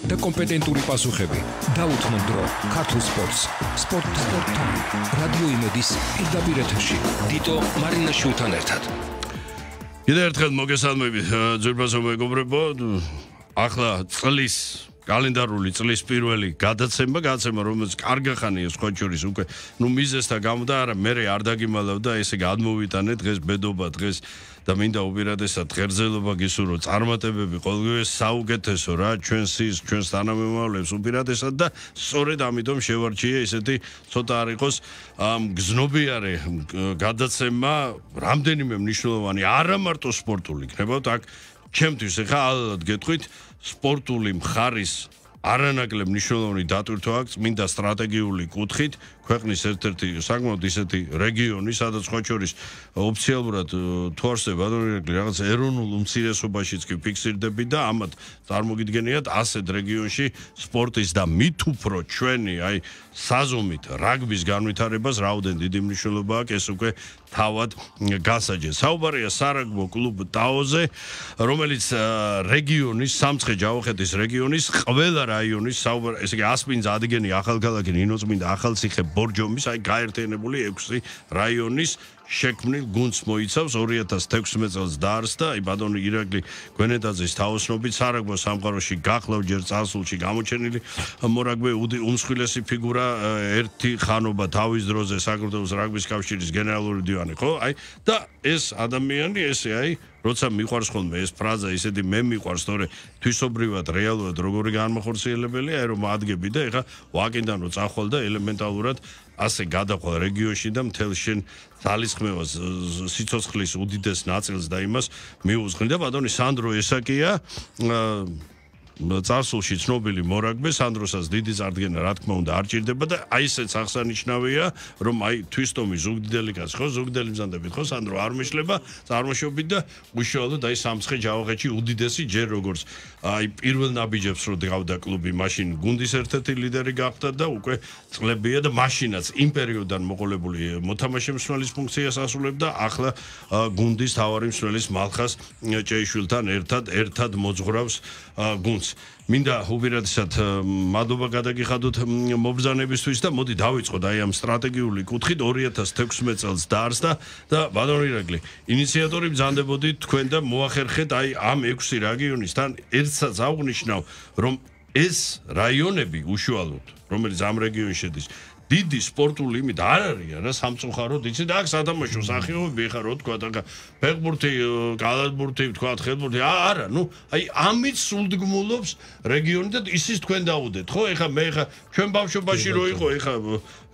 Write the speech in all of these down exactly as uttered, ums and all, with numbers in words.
და კომპეტენტური პასუხები დაუთმო დრო ქართულ სპორტს სპორტ სპორტთან რადიო იმედის პირდაპირ ეთერში დიტო მარინაშვილთან ერთად კიდევ ერთხელ მოგესალმებით ძვირფასო მეგობრებო ახლა წლის კალენდარული წლის პირველი გადაცემა გადაცემა რომელიც კარგი ხანია სხვა შორის უკვე ნუ მიზესთა გამო და არა მე არ დაგიმალავდა ესე გადმოვიტანე დღეს ბედობა დღეს და მინდა უპირატესად ღერძელობა გისურვო წარმატებები ყოველგვარი საუკეთესო რა ჩვენს ის ჩვენს თანამემამულებს უპირატესად და სწორედ ამიტომ შევარჩიე ესეთი ცოტა არ იყოს გზნობიარე გადაცემა რამდენიმე მნიშვნელოვანი არა მარტო სპორტული იქნება აქ ჩემთვის ახლა ალბათ გეტყვით სპორტული მხარის არანაკლებ მნიშვნელოვანი დატვირთვა აქვს მინდა სტრატეგიული კუთხით ქვეყნის ერთ-ერთი საკმაოდ ისეთი რეგიონი სადაც სხვა შორის ოფიციალურად თუ არსება რაღაც ეროვნულ უმცირესობაშიც კი ფიქსირდები და ამათ წარმოგიდგენიათ ასეთ რეგიონში სპორტის და მით უფრო ჩვენი აი საზომით რაგბის განვითარებას რაოდენ დიდი მნიშვნელობა აქვს ეს უკვე თავად გასაჯეს საუბარია სარაგბო კლუბ ტაოზე რომელიც რეგიონის სამცხე-ჯავახეთის რეგიონის ყველა რაიონის საუბარ ესე იგი ასპინძა ადგენი ახალქალაქი ნინოწმინდა ახალციხე ბორჯომის აი გაერთიანებული ექვსი რაიონის შექმნილ გუნდს მოიცავს ორი ათას თექვსმეტ წელს დაარსდა აი ბატონი ირაკლი გვენეტაძის თაოსნობით სარაგბო სამყაროში გახლავ ჯერ წარსულში გამოჩენილი მორაგბე უმსხვილესი ფიგურა ერთი ხანობა თავის დროზე საქართველოს რაგბის კავშირის გენერალური მდივანი ხო აი და ეს ადამიანი ესე აი როცა მიყვარს ხოლმე ეს ფრაზა ისეთი მე მიყვარს თორე თვისობრივად რეალურად როგორი განმახორციელებელია აი რომ ადგები და ეხა ვაკინდან რო წახვალ და ელემენტალურად ასე გადახვალ რეგიონში და მთელ შენ ძალისხმევას სიცოცხლის უდიდეს ნაწილს და იმას მიუძღვნი და ბატონი სანდრო ესაკია წარსულში ცნობილი მორაგბე სანდროსაც დიდი წარდგენა რა თქმა უნდა არ ჭირდება და აი ესეც აღსანიშნავია რომ აი თვისტომი ზუგდიდელი კაცი ხო ზუგდიდელი მზადებით ხო სანდრო არ მეშლება წარმოშობით და უშუალოდ აი სამცხე-ჯავახეთში უდიდესი ჯერ როგორც აი პირველ ნაბიჯებს რო გავდა კლუბი მაშინ გუნდის ერთ-ერთი ლიდერი გახდა და უკვე წლებია და მაშინაც იმ პერიოდიდან მოყოლებული მოთამაშე მსმენელის ფუნქციას ასრულებდა ახლა გუნდის თავარი მსმენელის მალხას ჭეიშვილთან ერთად ერთად მოძღვრავს გუნდს მინდა უპირატესად მადლობა გადაგიხადოთ მობრძანებისთვის და მოდი დავიწყოთ აი ამ სტრატეგიული კუთხით ორი ათას თექვსმეტ წელს დაარსდა და ბატონი ირაკლი ინიციატორი ბრძანდებოდით თქვენ და მოახერხეთ აი ამ ექვსი რეგიონისთან ერთსაც აღვნიშნავ რომ ეს რაიონები უშუალოდ რომელიც ამ რეგიონში შედის დიდი სპორტული იმით არ არის რა სამწუხაროდ იცი და აქ სათამაშო სახეობები ხარ რო თქვა და ფეხბურთი კალათბურთი თქვა ხელბურთი არა ნუ აი ამით სულდგმულობს რეგიონი და ისიც თქვენ დაუდეთ ხო ეხა მე ეხა ჩვენ ბავშვობაში რო იყო ეხა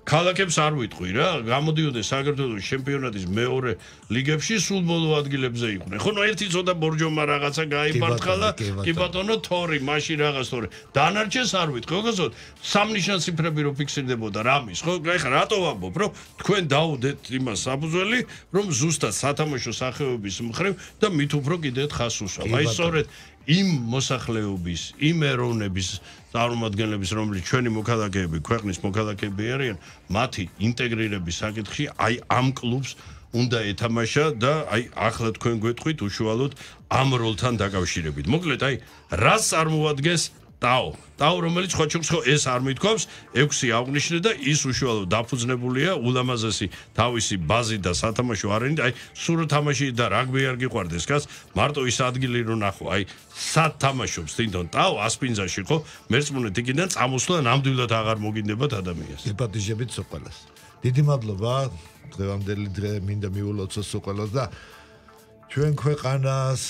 ქალაქებს არ ვიტყვი რა გამოდიოდნენ საქართველოს ჩემპიონატის მეორე ლიგებში სულ ბოლო ადგილებზე იყვნენ ხო ნუ ერთი ცოტა ბორჯომა რაღაცა გაიფარტყალა კი ბატონო თორი მაშინ რაღაც თორი დანარჩენს არ ვიტყვი ხო გასოთ სამნიშნად ციფრები რო ფიქსირდებოდა რამის ხო ეხლა რატო ვამბობ რომ თქვენ დაუდეთ იმას საფუძველი რომ ზუსტად სათამაშო სახეობის მხრივ და მით უფრო კიდევ ხას უსვამ აი სწორედ იმ მოსახლეობის იმ ეროვნების წარმომადგენლების რომელიც ჩვენი მოქალაქეები ქვეყნის მოქალაქეები არიან მათი ინტეგრირების საკითხი აი ამ კლუბს უნდა ეთამაშა და აი ახლა თქვენ გვეტყვით უშუალოდ ამ როლთან დაკავშირებით მოკლედ აი რას წარმოადგენს ტაო ტაო რომელიც სხვა შორის ხო ეს არ მithქვავს ექვსი აღნიშნე და ის უშუალოდ დაფუძნებულია ულამაზესი თავისი ბაზი და სათამაშო არენით აი სულ თამაში და რაგბი არ გიყვარდეს კაც მარტო ის ადგილი რო ნახო აი სათამაშობს თვითონ ტაო ასპინძაში ხო მერწმუნეთ იქიდან წამოსვლა ნამდვილად აღარ მოგინდებათ ადამიანს ეპატიჟებით სოყალას დიდი მადლობა დღევანდელი დღე მინდა მიულოცოს სოყალას და ჩვენ ქვეყანას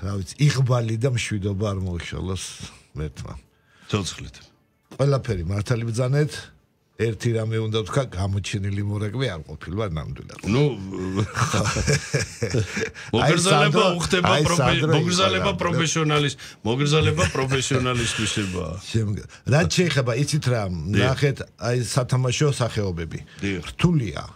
რა ვიცი იღბალი და მშვიდობა არ მოიშალოს მეთმა ცოცხლით ყველაფერი მართალი ბრძანეთ ერთი რამე უნდა ვთქვა გამოჩენილი მორაგბე არ ყოფილა ნამდვილად ნუ მოგრძალება უხდება მოგრძალება პროფესიონალის მოგრძალება პროფესიონალისტვისება რაც შეიძლება იცით რა ნახეთ აი სათამაშო სახეობები რთულია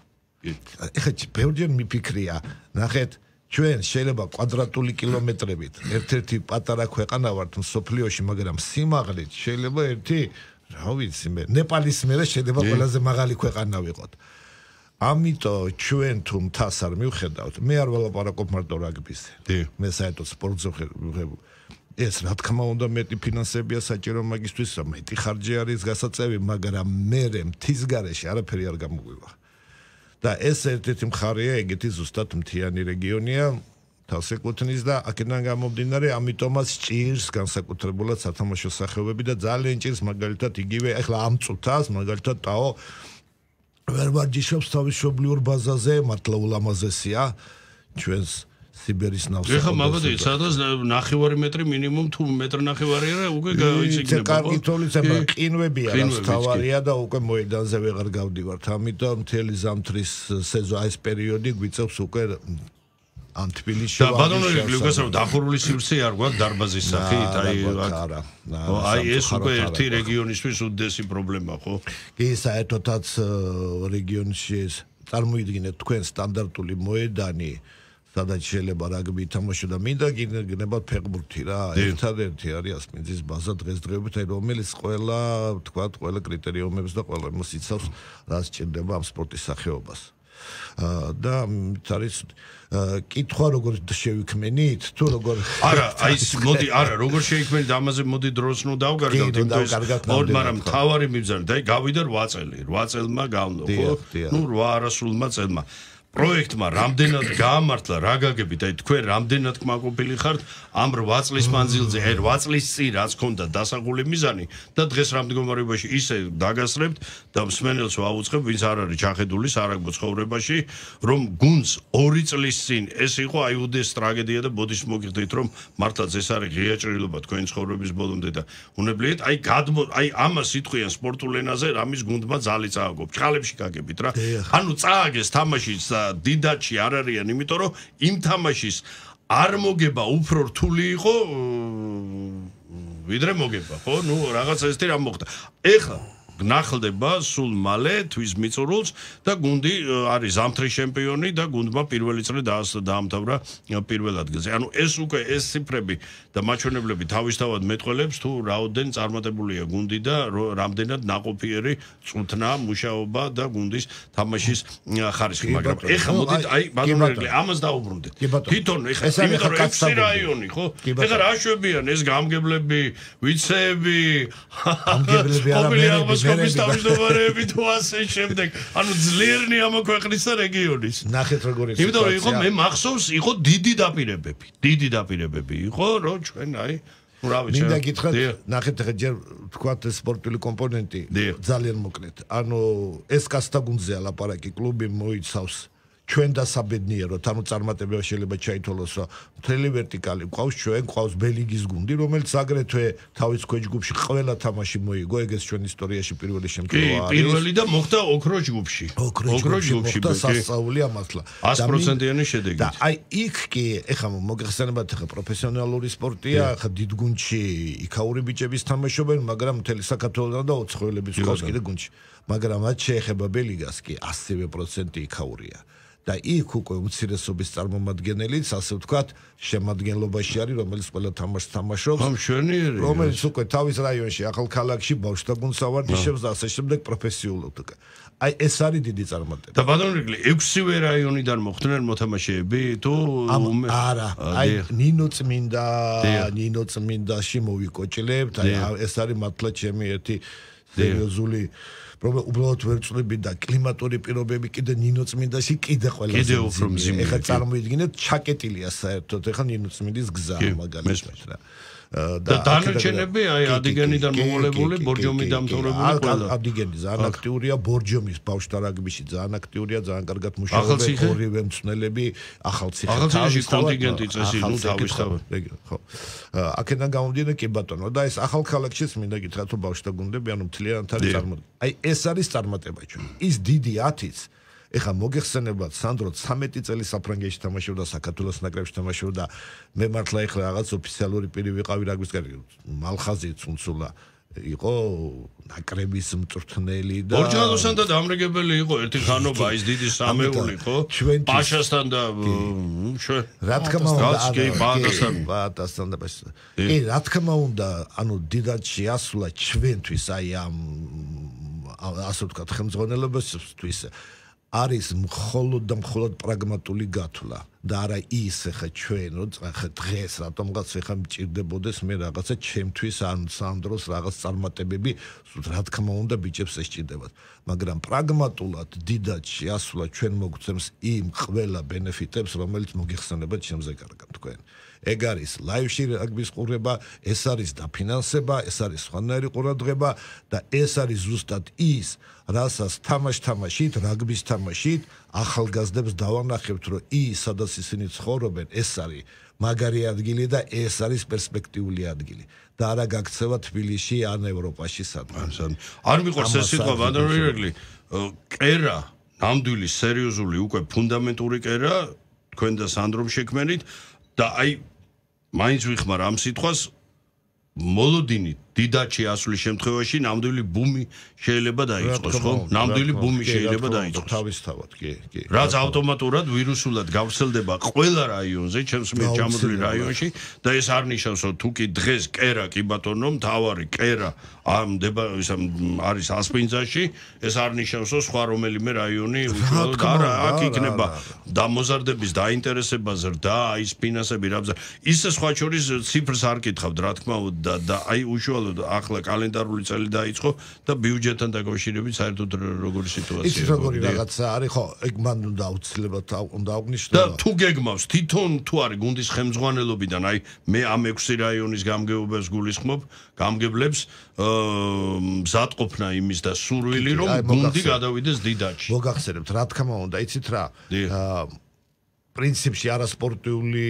ეხლა ბევრჯერ მიფიქრია ნახეთ ჩვენ შეიძლება კვადრატული კილომეტრებით ერთ-ერთი პატარა ქვეყანა ვართ მსოფლიოში მაგრამ სიმაღლით შეიძლება ერთი რა ვიცი მე ნეპალის მერე შეიძლება ყველაზე მაღალი ქვეყანა ვიყოთ ამიტომ ჩვენ თუ მთას არ მივხედავთ მე არ ველაპარაკობ მარტო რაგბის მე საერთოდ სპორტზე ვღებ ეს რა თქმა უნდა მეტი ფინანსებია საჭირო მაგისთვის, მეტი ხარჯი არის გასაწევი, მაგრამ მერე მთის გარეშე არაფერი არ გამოგვივა. და ეს ერთ-ერთი მხარეა, ეგეთი ზუსტად მთიანი რეგიონია, თავს ეკუთვნის და აქედან გამომდინარე, ამიტომაც ჭირს განსაკუთრებულად სათამაშო სახეობები და ძალიან ჭირს მაგალითად იგივე ახლა ამ წუთას მაგალითად ტაო ვერ ვარჯიშობს თავის მშობლიურ ბაზაზე, მართლა ულამაზესია ჩვენს სიბერის ნავსა. ეხლა მაგოდი, სადაც ნახევარი მეტრი მინიმუმ თუ მეტრი ნახევარი არა, უკვე გაიციგნება. ეს კარგი თოვლიცება, ყინვებია, რაც თავარია და უკვე მოედანზე ვეღარ გავდივართ. ამიტომ მთელი ზამთრის სეზონი, ეს პერიოდი გვიწევს უკვე ამ თბილისში. და ბატონო ლუკასო, დახურული სივრცე არ გვაქვს დარბაზის სახით, აი არა. აი ეს უკვე ერთი რეგიონისთვის უდიდესი პრობლემა, ხო? კი, საერთოდაც რეგიონში წარმოიდგინეთ თქვენ სტანდარტული მოედანი, სადაც შეიძლება რაგბი ითამაშო და მინდა გინებათ ფეხბურთი რა. ერთადერთი არის ასპინძის ბაზა დღესდღეობით, რომელიც ყველა, თქვათ, ყველა კრიტერიუმებს და ყველა იმას იცავს, რაც სჭირდება ამ სპორტის სახეობას. და არის კითხვა როგორ შევიქმნით თუ როგორ არა აი მოდი არა როგორ შევიქმნით ამაზე მოდი დროს ნუ დავგარგავთ იმიტომ მაგრამ თავარი მიბრძანე და გავიდა რვა წელი რვა წელმა გავნო ხო ნუ რვა არასრულმა წელმა პროექტმა რამდენად გაამართლა რა გაგებით აი თქვენ რამდენად კმაყოფილი ხართ ამ რვა წლის მანძილზე აი რვა წლის წინ რაც ქონდა დასახული მიზანი და დღეს რამ მდგომარეობაში ისე დაგასრებთ და მსმენელს ვაუწყებ ვინც არ არის ჩახედული სარაგბო ცხოვრებაში რომ გუნდს ორი წლის წინ ეს იყო აი უდეს ტრაგედია და ბოდის მოგიხდით რომ მართლაც ეს არის ღია ჭრილობა თქვენი ცხოვრების ბოლომდე და უნებლიეთ აი გადმო აი ამას იტყვიან სპორტულ ენაზე რამის გუნდმა ძალი წააგო ჭყალებში გაგებით რა ანუ წააგეს თამაშიც დიდაჩი არ არიან, იმიტომ რომ იმ თამაშის არ მოგება უფრო რთული იყო ვიდრე მოგება, ხო? ნუ რაღაცა ესეთი რამ მოხდა. ეხლა გნახლდება სულ მალე თვის მიწურულს და გუნდი არის ზამთრის ჩემპიონი და გუნდმა პირველი წელი დაამთავრა პირველ ადგილზე. ანუ ეს უკვე ეს ციფრები და მაჩვენებლები თავისთავად მეტყველებს თუ რაოდენ წარმატებულია გუნდი და რამდენად ნაყოფიერი წუთნა მუშაობა და გუნდის თამაშის ხარისხი, მაგრამ ეხლა მოდით აი ბატონო ამას დაუბრუნდეთ. თვითონ ეხლა იმიტომ რომ ექვსი რაიონი, ხო? ეხლა რა შვებიან ეს გამგებლები, ვიცეები, გამგებლები არა სკოპის თავმჯდომარეები თუ ასე შემდეგ. ანუ ძლიერნი ამ ქვეყნის და რეგიონის. ნახეთ როგორი სიტუაცია. იმიტომ რომ იყო მე მახსოვს იყო დიდი დაპირებები. დიდი დაპირებები იყო რომ ჩვენ აი ნუ რა ვიცი. მინდა გითხრათ, ნახეთ ახლა ჯერ თქვათ სპორტული კომპონენტი ძალიან მოკლედ. ანუ ეს კასტა გუნდზე ლაპარაკი კლუბი მოიცავს ჩვენ დასაბედნიეროთ, ანუ წარმატება შეიძლება ჩაითვალოს, რომ მთელი ვერტიკალი ყავს ჩვენ, ყავს ბელიგის გუნდი, რომელიც აგრეთვე თავის ქვეჯგუფში ყველა თამაში მოიგო, ეგეც ჩვენ ისტორიაში პირველი შემთხვევა არის. კი, პირველი და მოხდა ოქრო ჯგუფში. ოქრო ჯგუფში და სასწაულია მართლა. ას პროცენტიანი შედეგი. და აი იქ კი, ეხლა მოგეხსენებათ, ეხლა პროფესიონალური სპორტია, ეხლა დიდ გუნდში იქაური ბიჭების თამაშობენ, მაგრამ მთელი საქართველოსთან და ოცხოელების ყავს კიდე გუნდში. მაგრამ მათ შეეხება ბელიგას კი ასივე პროცენტი იქაურია. და იქ უკვე უმცირესობის წარმომადგენელიც, ასე ვთქვათ, შემადგენლობაში არის, რომელიც ყველა თამაშს თამაშობს. ამ შვენიერი. რომელიც უკვე თავის რაიონში, ახალ ქალაქში ბავშვთა გუნდს ავარჯიშებს და ასე შემდეგ პროფესიულად. აი ეს არის დიდი წარმატება. და ბატონო, ექვსივე რაიონიდან მოხდნენ მოთამაშეები თუ არა, აი ნინო წმინდა, ნინო წმინდაში მოვიკოჭლებთ, აი ეს არის მართლა ჩემი ერთი სერიოზული უბრალოდ ვერ წვლები და კლიმატური პირობები კიდე ნინო წმინდაში კიდე ყველაზე კიდე უფრო მძიმე. ეხლა წარმოიდგინეთ ჩაკეტილია საერთოდ ეხლა ნინო წმინდის გზა მაგალითად რა. და დანარჩენები აი ადიგენიდან მომოლებული ბორჯომი დამთავრებული ყველა. ადიგენი ძალიან აქტიურია ბორჯომის ბავშვთა რაგბიში ძალიან აქტიურია, ძალიან კარგად მუშაობენ ორივე მწვრთნელები ახალციხე. ახალციხეში კონტინგენტი წესი ნუ თავისთავად. ხო. აქედან გამომდინარე კი ბატონო და ეს ახალ ქალაქშიც მინდა გითხრათ რომ ბავშვთა გუნდები ანუ მთლიანად არის წარმოდგენილი. აი ეს არის წარმატება ჩვენ. ის დიდი ათიც ეხა მოგეხსენებათ სანდრო ცამეტი წელი საფრანგეთში თამაშობდა საქართველოს ნაკრებში თამაშობდა მე მართლა ეხლა რაღაც ოფიციალური პირი ვიყავი რაგბის კარგი მალხაზი ცუნცულა იყო ნაკრების მწვრთნელი და ბორჯალოსთან და დამრიგებელი იყო ერთი ხანობა ის დიდი სამეული ხო პაშასთან და ჩვენ რა თქმა უნდა ბადასთან ბადასთან და კი რა თქმა უნდა ანუ დიდად შეასრულა ჩვენთვის აი ამ ასე ვთქვათ ხელმძღვანელობისთვის არის მხოლოდ და მხოლოდ პრაგმატული გათვლა და არა ის ხა ჩვენ რო ხა დღეს რატომღაც ხა მჭირდებოდეს მე რაღაცა ჩემთვის ან სანდროს რაღაც წარმატებები რა თქმა უნდა ბიჭებს ესჭირდებათ მაგრამ პრაგმატულად დიდად შეასვლა ჩვენ მოგცემს იმ ყველა ბენეფიტებს რომელიც მოგიხსენებათ ჩემზე კარგად თქვენ ეგ არის ლაივში რაგბის ყურება ეს არის დაფინანსება ეს არის სხვანაირი ყურადღება და ეს არის ზუსტად ის რასაც თამაშ-თამაშით რაგბის თამაშით ახალგაზრდებს დავანახებთ რომ ის სადაც ისინი ცხოვრობენ ეს არის მაგარი ადგილი და ეს არის პერსპექტიული ადგილი და არა გაქცევა თბილისში ან ევროპაში სადღაც არ მიყვარს ეს სიტყვა ვანდერვირგლი კერა ნამდვილი სერიოზული უკვე ფუნდამენტური კერა თქვენ და სანდრომ შექმენით და აი მაინც ვიხმარ ამ სიტყვას მოლოდინი დიდად შეასვლის შემთხვევაში ნამდვილი ბუმი შეიძლება დაიწყოს ხო? ნამდვილი ბუმი შეიძლება დაიწყოს. თავისთავად, კი, კი. რაც ავტომატურად ვირუსულად გავრცელდება ყველა რაიონზე, ჩემს მიერ ჩამოთვლილ რაიონში და ეს არ ნიშნავს, რომ თუ კი დღეს კერა კი ბატონო, მთავარი კერა ამ არის ასპინძაში, ეს არ ნიშნავს, რომ სხვა რომელიმე რაიონი უშუალოდ არა, აქ იქნება დამოზარდების დაინტერესება ზრდა, ის ფინანსები რა ისე სხვა შორის ციფრს არ კითხავთ, რა თქმა უნდა და აი უშუალოდ ახლა კალენდარული წელი დაიწყო და ბიუჯეტთან დაკავშირებით საერთოდ როგორი სიტუაციაა. ის როგორი რაღაცა არის ხო, ეგ მან უნდა აუცილებლად უნდა აღნიშნო. და თუ გეგმავს თვითონ თუ არის გუნდის ხელმძღვანელობიდან, აი მე ამ ექვსი რაიონის გამგეობებს გულისხმობ, გამგებლებს მზადყოფნა იმის და სურვილი რომ გუნდი გადავიდეს დიდაჩი. მოგახსენებთ, რა თქმა უნდა, იცით რა? პრინციპში არასპორტიული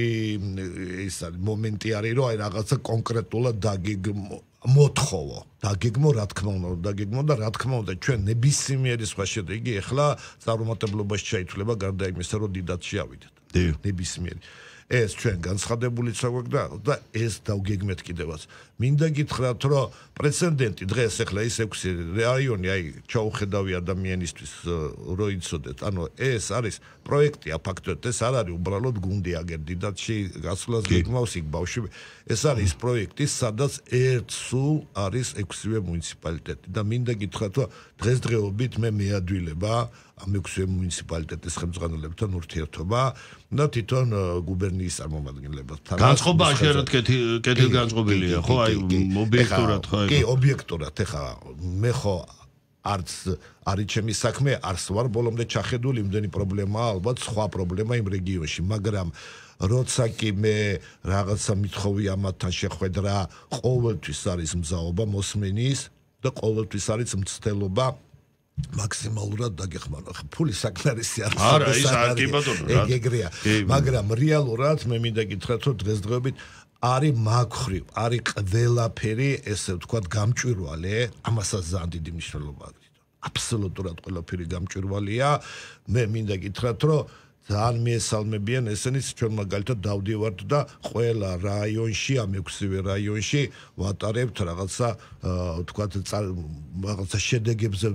ის არის მომენტი არის რომ აი რაღაცა კონკრეტულად დაგეგმო მოთხოვო დაგეგმო რა თქმა უნდა დაგეგმო და რა თქმა უნდა ჩვენ ნებისმიერი სხვა შედეგი ახლა წარუმატებლობაში ჩაითვლება გარდა იმისა რომ დიდად შეავიდეთ ნებისმიერი ეს ჩვენ განცხადებული საგვაქვს და ეს დავგეგმეთ კიდევაც მინდა გითხრათ რომ პრეცედენტი დღეს ახლა ის ექვსი რაიონი აი ჩაუხედავი ადამიანისთვის რო იცოდეთ ანუ ეს არის პროექტია ფაქტობრივად ეს არ არის უბრალოდ გუნდი აგერ დიდათში გასვლას გეგმავს იქ ბავშვი ეს არის პროექტი სადაც ერთ სულ არის ექვსივე მუნიციპალიტეტი და მინდა გითხრათ რომ დღესდღეობით მე მეადვილება ამ ექვსივე მუნიციპალიტეტის ხელმძღვანელებთან ურთიერთობა და თვითონ გუბერნიის წარმომადგენლებთან განწყობა აშერად კეთილგანწყობილია ხო აი ობიექტურად ხო კი ობიექტურად ეხა მე ხო არც არის ჩემი საქმე არც ვარ ბოლომდე ჩახედული იმდენი პრობლემაა ალბათ სხვა პრობლემა იმ რეგიონში მაგრამ როცა კი მე რაღაცა მithოვი ამათთან შეხვედრა ყოველთვის არის მზაობა მოსმენის და ყოველთვის არის მცდელობა მაქსიმალურად დაგეხმარო ხა ფული საკმარისი არის არა ის არ კი ბატონო რა ეგრეა მაგრამ რეალურად მე მინდა გითხრათ რომ დღესდღეობით არის მაგხრივ არის ყველაფერი ესე ვთქვათ გამჭვირვალე ამასაც ძალიან დიდი მნიშვნელობა აქვს აბსოლუტურად ყველაფერი გამჭვირვალეა მე მინდა გითხრათ რომ ძალიან მიესალმებიან ესენიც ჩვენ მაგალითად დავდივართ და ყველა რაიონში ამ ექვსივე რაიონში ვატარებთ რაღაცა ვთქვათ რაღაცა შედეგებზე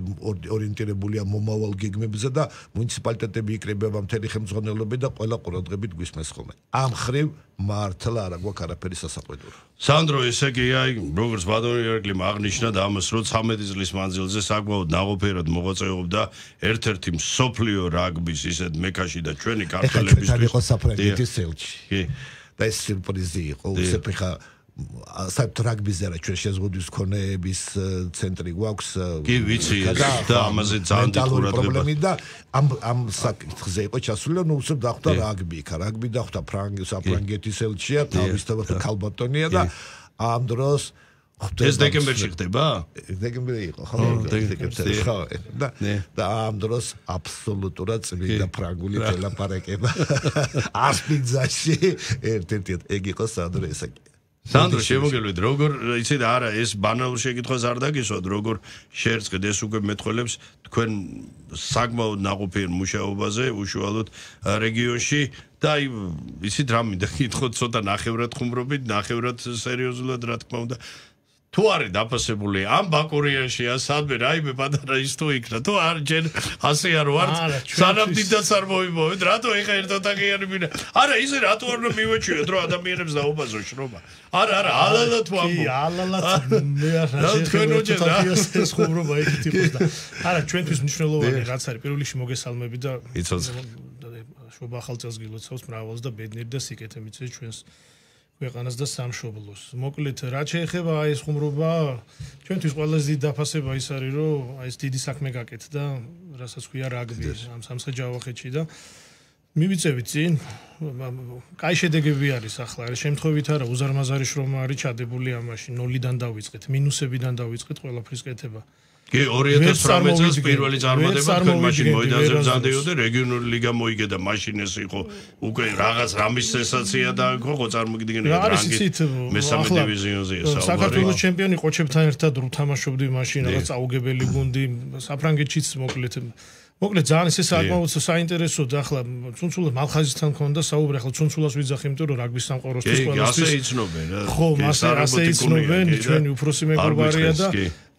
ორიენტირებულია მომავალ გეგმებზე და მუნიციპალიტეტები იკრიბება მთელი ხელმძღვანელობები და ყველა ყურადღებით გვისმენს ხოლმე ამ ხრივ მართლა არა გვაქვს არაფერი სასაყვედური სანდრო ესე კი აი როგორც ბადონიერგლიმ აღნიშნა და ამას რო ცამეტი წლის მანძილზე საკმაოდ ნაყოფიერად მოღვაწეობდა ერთ-ერთი მსოფლიო რაგბის ისეთ მექაში და ჩვენი ქართველებისთვის ეხლა იყო საფრანგეთის ელჩი კი და ეს სიურპრიზი იყო უცებ ხა საერთოდ რაგბიზე რა ჩვენ შეზღუდვის ქონეების ცენტრი გვაქვს კი ვიცი და ამაზე ძალიან დიდი ყურადღება და ამ ამ საკითხზე იყო ჩასული ნუ უცებ დახვდა რაგბი ხა რაგბი დახვდა ფრანგის საფრანგეთის ელჩია თავისთავად ქალბატონია და ამ დროს ეს დეკემბერში ხდება? დეკემბერი იყო, ხო? დეკემბერი ხო. და და ამ დროს აბსოლუტურად წმინდა ფრანგული თელაპარაკება. ასპინძაში ერთ-ერთი ეგ იყო სანდრო ესაკი. სანდრო შემოგელვით როგორ იცით არა ეს ბანალურ შეკითხვას არ დაგისვათ როგორ შეერწყეთ ეს უკვე მეტყველებს თქვენ საკმაოდ ნაყოფიერ მუშაობაზე უშუალოდ რეგიონში და აი იცით რა მინდა გითხოთ ცოტა ნახევრად ხუმრობით ნახევრად სერიოზულად რა თქმა უნდა თუ არის დაფასებული ამ ბაკურიაში ან სადმე რაიმე პატარა ის თუ იქნა თუ არ ჯერ ასე არ ვართ სანამ დიდაც არ მოიმოვეთ რატო ეხა ერთ ოთახიანი მინდა არა ისე რატო არ მივეჩვიოთ რომ ადამიანებს დაუბაზო შრომა არა არა ალალად ვამბობ კი ალალად მე არ შეიძლება ეს ხუმრობა ეგეთი იყოს და არა ჩვენთვის მნიშვნელოვანი რაც არის პირველ რიგში მოგესალმები და შობა ახალწელს გილოცავს მრავალს და ბედნიერ და სიკეთე მიცეს ჩვენს ქვეყანას და სამშობლოს. მოკლედ, რაც შეეხება აი ეს ხუმრობა, ჩვენთვის ყველაზე დიდი დაფასება ის არის, რომ აი ეს დიდი საქმე გაკეთდა, რასაც ქვია რაგბი ამ სამცხე-ჯავახეთში და მივიწევით წინ. კაი შედეგები არის ახლა, რა შემთხვევით არა, უზარმაზარი შრომა არის ჩადებული ამაში, ნოლიდან დავიწყეთ, მინუსებიდან დავიწყეთ ყველაფრის კეთება. კი ორი ათას ცხრამეტ წელს პირველი წარმატება თქვენ მაშინ მოედანზე ბრძანდიოდე რეგიონული ლიგა მოიგე და მაშინ ეს იყო უკვე რაღაც რამის სენსაცია და ხო წარმოგიდგენია რანგი მესამე დივიზიონზეა საუბარი საქართველოს ჩემპიონი ყოჩებთან ერთად რუთამაშობდი მაშინ რაღაც წაუგებელი გუნდი საფრანგეთშიც მოკლედ მოკლედ ძალიან ესე საკმაოდ საინტერესო და ახლა ცუნცულა მალხაზისთან მქონდა საუბარი ახლა ცუნცულას ვიძახი იმიტომ რომ რაგბის სამყაროსთვის ყველასთვის ასე იცნობენ რა ხო მასე ასე იცნობენ ჩვენი უფროსი მეგობარია და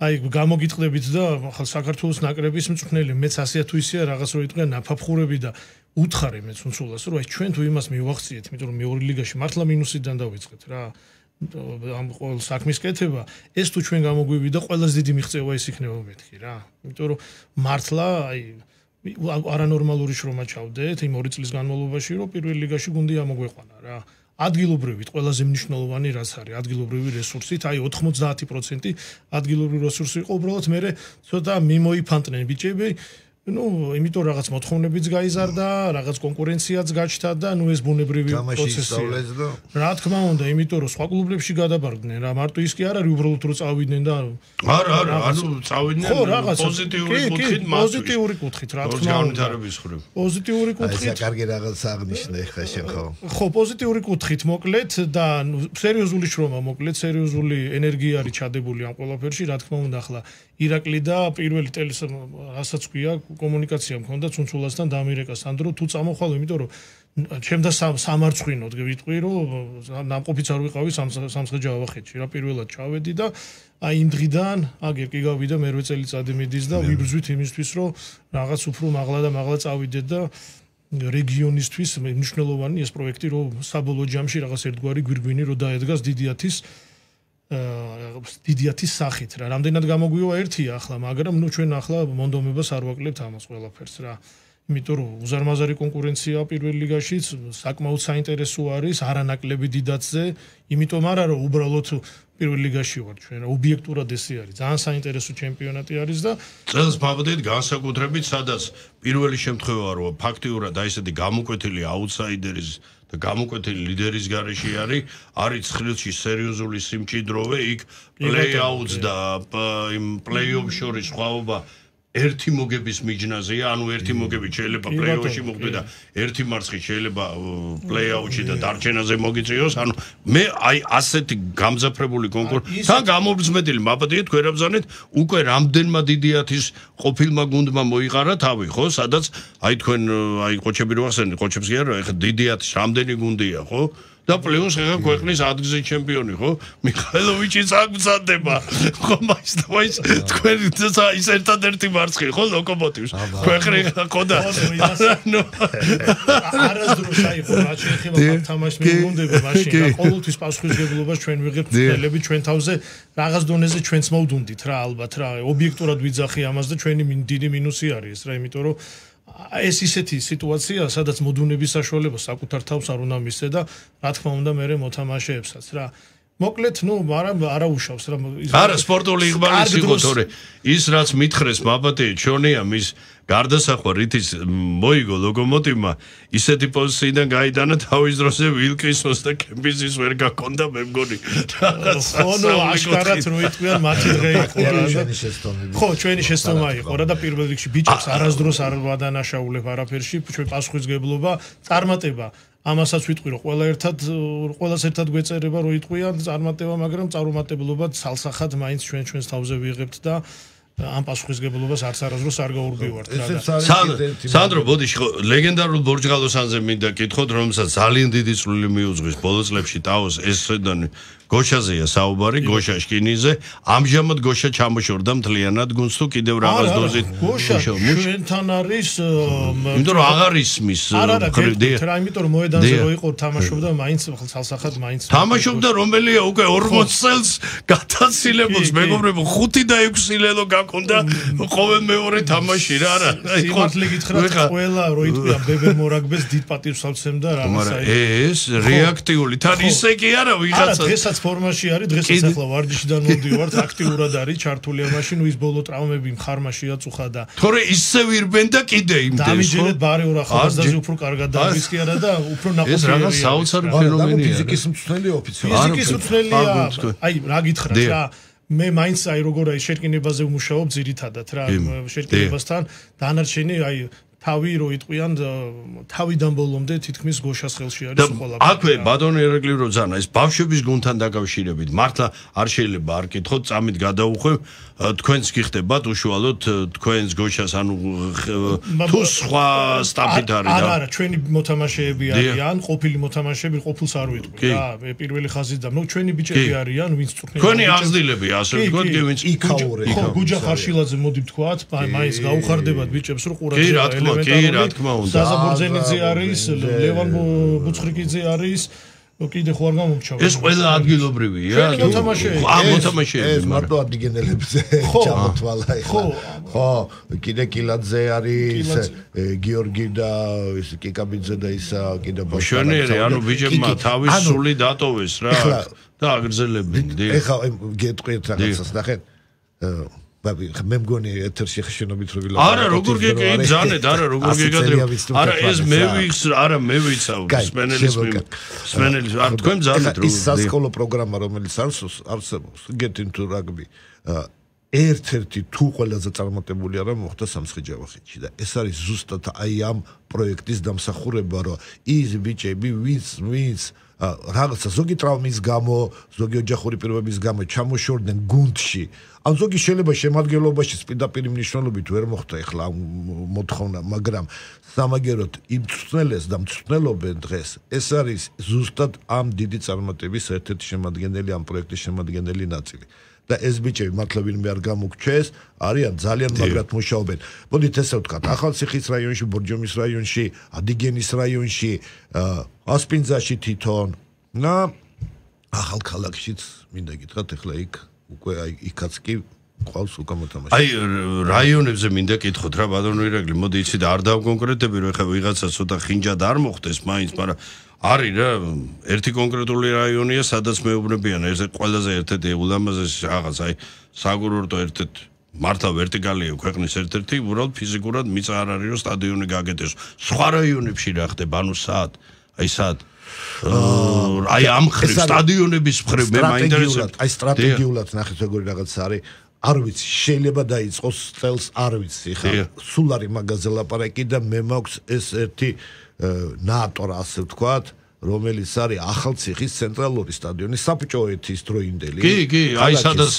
აი გამოგიტყდებით და ახლა საქართველოს ნაკრების მწვრთნელი მეც ასეა თუ ისეა რაღაც რო იტყვიან ნაფაფხურები და უთხარი მე ცუნცულას რომ აი ჩვენ თუ იმას მივახციეთ იმიტომ რომ მეორე ლიგაში მართლა მინუსიდან დავიწყეთ რა ამ ყოველ საქმის კეთება ეს თუ ჩვენ გამოგვივიდა ყველაზე დიდი მიღწევა ის იქნება მეთქი რა იმიტომ რომ მართლა აი არანორმალური შრომა ჩავდეთ იმ ორი წლის განმავლობაში რომ პირველ ლიგაში გუნდი ამოგვეყვანა რა ადგილობრივით ყველაზე მნიშვნელოვანი რაც არის ადგილობრივი რესურსით აი ოთხმოცდაათი პროცენტი ადგილობრივი რესურსი იყო უბრალოდ მე ცოტა მიმოიფანტნენ ბიჭები ну იმიტომ რაღაც მოთხოვნებიც გაიზარდა რაღაც კონკურენციაც გაჩნდა და ну ეს ბუნებრივი პროცესია რა თქმა უნდა იმიტომ რომ სხვა კლუბებში გადაბარგდნენ რა მარტო ის კი არ არის უბრალოდ რომ წავიდნენ და არა არა ანუ წავიდნენ პოზიტიური კუთხით პოზიტიური კუთხით რა თქმა უნდა პოზიტიური კუთხით აი კარგი რაღაც აღნიშნე ხა შენ ხო ხო პოზიტიური კუთხით მოკლედ და სერიოზული შრომა მოკლედ სერიოზული ენერგია არის ჩადებული ამ ყველაფერში რა თქმა უნდა ახლა ირაკლი და პირველი ტელის რასაც ქვია კომუნიკაცია მქონდა ცუნცულასთან დამირეკა სანდრო თუ წამოხვალ იმიტომ რომ ჩემდა სამარცხვინოდ ვიტყვი რომ ნამყოფიც არ ვიყავი სამცხე-ჯავახეთში რა პირველად ჩავედი და აი იმ დღიდან აგერ კი გავიდა მერვე წელიწადი მიდის და ვიბრძვით იმისთვის რომ რაღაც უფრო მაღლა და მაღლა წავიდეთ და რეგიონისთვის მნიშვნელოვანი ეს პროექტი რომ საბოლოო ჯამში რაღაც ერთგვარი გვირგვინი რომ დაედგას დიდიათის დიდიათის სახით რა რამდენად გამოგვივა ერთია ახლა მაგრამ ნუ ჩვენ ახლა მონდომებას არ ვაკლებთ ამას ყველაფერს რა იმიტომ რომ უზარმაზარი კონკურენცია პირველ ლიგაშიც საკმაოდ საინტერესო არის არანაკლები დიდათზე იმიტომ არა რომ უბრალოდ პირველ ლიგაში ვარ ჩვენ რა ობიექტურად ესე არის ძალიან საინტერესო ჩემპიონატი არის და წელს ვაბდეთ განსაკუთრებით სადაც პირველი შემთხვევა რომ ფაქტიურად აი ესეთი გამოკვეთილი აუტსაიდერის და გამოკვეთილი ლიდერის გარეშე არის არის ცხრილში სერიოზული სიმჭიდროვე იქ პლეი-აუტს და იმ პლეი-ოფ შორის სხვაობა ერთი მოგების მიჯნაზეა ანუ ერთი მოგები შეიძლება პლეი-ოფში მოხდე და ერთი მარცხი შეიძლება პლეი-აუტში და დარჩენაზე მოგიწიოს ანუ მე აი ასეთი გამძაფრებული კონკურსი თან გამომწმედილი მაბადია თქვენ რაბზანეთ უკვე რამდენმა დიდიათის ყოფილმა გუნდმა მოიყარა თავი ხო სადაც აი თქვენ აი ყოჩები რო ახსენეთ ყოჩებს კი არა ეხა დიდიათის რამდენი გუნდია ხო და პლუს ხა ქვეყნის ადგილზე ჩემპიონი ხო მიხაილოვიჩიც აგზადდება ხო მაინც და მაინც თქვენ ის ერთადერთი მარცხი ხო ლოკომოტივს ქვეყნი ხო და არასდროს აიყო რა შეიძლება თამაშს მიგუნდები მაშინ და ყოველთვის პასუხისგებლობას ჩვენ ვიღებთ წელები ჩვენ თავზე რაღაც დონეზე ჩვენც მოვდუნდით რა ალბათ რა ობიექტურად ვიძახი ამას და ჩვენი დიდი მინუსი არის რა იმიტომ რომ ეს ისეთი სიტუაცია, სადაც მოდუნების საშუალება საკუთარ თავს არ უნდა მისცე და რა თქმა უნდა მე მოთამაშეებსაც რა. მოკლედ, ნუ არა არა უშავს რა. არა სპორტული იღბალის იყო თორე ის რაც მითხრეს მაბატე ჩონია მის გარდასახვა რითიც მოიგო ლოკომოტივმა ისეთი პოზიციიდან გაიტანა თავის დროზე ვილკინსონს და კემბიზის ვერ გაქონდა მე მგონი ხო ნუ აშკარად რო იტყვიან მათი დღე იყო რა ხო ჩვენი შეცდომა იყო რა და პირველ რიგში ბიჭებს არასდროს არ ვადანაშაულებ არაფერში ჩვენ პასუხისგებლობა წარმატება ამასაც ვიტყვი რომ ყველა ერთად ყველას ერთად გვეწერება რომ იტყვიან წარმატება მაგრამ წარუმატებლობა ცალსახად მაინც ჩვენ ჩვენს თავზე ვიღებთ და ამ პასუხისგებლობას არც არასდროს არ გაურბივართ რა. სანდრო, ბოდიში, ლეგენდარულ ბორჯღალოსანზე მინდა კითხოთ, რომელსაც ძალიან დიდი წვლილი მიუძღვის ბოლო წლებში ტაოს ეს სედანი გოშაზეა საუბარი, გოშა შკინიზე. ამჟამად გოშა ჩამოშორდა მთლიანად გუნდს თუ კიდევ რაღაც დოზით გოშა ჩვენთან არის იმიტომ რომ აღარ ისმის არა რა იმიტომ რომ მოედანზე რო იყო თამაშობდა მაინც ხალხსახად მაინც თამაშობდა რომელია უკვე ორმოც წელს გათაცილებულს მეგობრებო ხუთი და ექვსი ლელო აქ უნდა ყოველ მეორე თამაში რა რა. სიმართლე გითხრათ ყველა რო იტყვია ბებერ მორაგბეს დიდ პატივს ავცემ და რაღაც აი. ეს რეაქტიული თან ისე კი არა ვიღაცა. არა დღესაც ფორმაში არის, დღესაც ახლა ვარჯიშიდან მოვდივართ, აქტიურად არის ჩართული ამაში, ნუ ის ბოლო ტრავმები მხარმა შეაწუხა და თორე ისე ვირბენ და კიდე იმდენს. დამიჯერეთ ბარეორ ახალგაზრდაზე უფრო კარგად დავის კი არა და უფრო ნაყოფიერია. ეს რაღაც საოცარი ფენომენია. ფიზიკის მწვრთნელი ოფიციალურად. ფიზიკის მწვრთნელია. აი რა გითხრათ რა მე მაინც აი როგორ აი შერკინებაზე ვმუშაობ ძირითადად რა შერკინებასთან დანარჩენი აი თავი რო იტყვიან თავიდან ბოლომდე თითქმის გოშას ხელში არის ყველა. აქვე ბატონო ერეკლი რო ძანა ეს ბავშვების გუნდთან დაკავშირებით მართლა არ შეიძლება არ კითხოთ წამით გადაუხვევ თქვენს გიხდებათ უშუალოდ თქვენს გოშას ანუ თუ სხვა სტაფით არის და არა არა ჩვენი მოთამაშეები არიან ყოფილი მოთამაშეები ყოფილს არ ვიტყვი რა პირველი ხაზიდან ნუ ჩვენი ბიჭები არიან ვინც წვრთნიან თქვენი აღზრდილები ასე ვთქვათ კი ვინც იქაურე ხო გუჯა ხარშილაძე მოდი ვთქვათ მაინც გაუხარდებათ ბიჭებს რო ყურადღება კი რა თქმა კი რა თქმა უნდა საზა ბორძენიძე არის ლევან ბუცხრიკიძე არის კიდე ხო არ გამომჩავა ეს ყველა ადგილობრივია მოთამაშეები ა მოთამაშეები ეს მარტო ადგილელებზე ჩამოთვალა ხო ხო კიდე კილაძე არის გიორგი და ის კიკაბიძე და ისა კიდე ბოშანერი ანუ ბიჭებმა თავის სული დატოვეს რა და აგრძელებენ ეხლა გეტყვით რაღაცას ნახეთ მე მგონი ეთერში ხშენობით რო ვილაპარაკო არა როგორ გეკი ძანეთ არა როგორ გეკადრებ არა ეს მე ვიც არა მე ვიცავ სპენელის სპენელის არ თქვენ ძანეთ რო ის სასკოლო პროგრამა რომელიც არსებობს getting to rugby ერთ-ერთი თუ ყველაზე წარმატებული არა მოხდა სამცხე-ჯავახეთში და ეს არის ზუსტად აი ამ პროექტის დამსახურება რომ ის ბიჭები ვინც ვინც რაღაცა ზოგი ტრავმის გამო ზოგი ოჯახური პირობების გამო ჩამოშორდნენ გუნდში ან ზოგი შეიძლება შემადგენლობაში პირდაპირ მნიშვნელობით ვერ მოხდა ეხლა მოთხოვნა მაგრამ სამაგეროდ იმ მწვრთნელებს და მწვრთნელობენ დღეს ეს არის ზუსტად ამ დიდი წარმატების ერთ-ერთი შემადგენელი ამ პროექტის შემადგენელი ნაწილი და ეს ბიჭები მართლა ვინმე არ გამოგჩეს არიან ძალიან მაგრად მუშაობენ მოდით ესე ვთქვათ ახალციხის რაიონში ბორჯომის რაიონში ადიგენის რაიონში ასპინძაში თვითონ და ახალქალაქშიც მინდა გითხრათ ეხლა იქ უკვე აი იქაც კი ყავს უკვე მოთამაშე აი რაიონებზე მინდა კითხოთ რა ბატონო ირაკლი მოდი იცი და არ დავკონკრეტები რომ ეხლა ვიღაცა ცოტა ხინჯად არ მოხდეს მაინც მაგრამ არის რა ერთი კონკრეტული რაიონია სადაც მეუბნებიან ეს ყველაზე ერთ-ერთი ულამაზესი რაღაც აი საკურორტო ერთ-ერთი მართლა ვერტიკალია ქვეყნის ერთ-ერთი უბრალოდ ფიზიკურად მიწა არ არის რომ სტადიონი გაკეთდეს სხვა რაიონებში რა ხდება ანუ საათ აი საათ აი ამ ხრივ სტადიონების ხრივ მე მაინტერესებს აი სტრატეგიულად ნახეთ როგორი რაღაც არის არ ვიცი შეიძლება დაიწყოს წელს არ ვიცი ხა სულ არის მაგაზე ლაპარაკი და მე მაქვს ეს ერთი ნატორ ასე ვთქვათ რომელიც არის ახალციხის ცენტრალური სტადიონი საბჭოეთის დროინდელი კი კი აი სადაც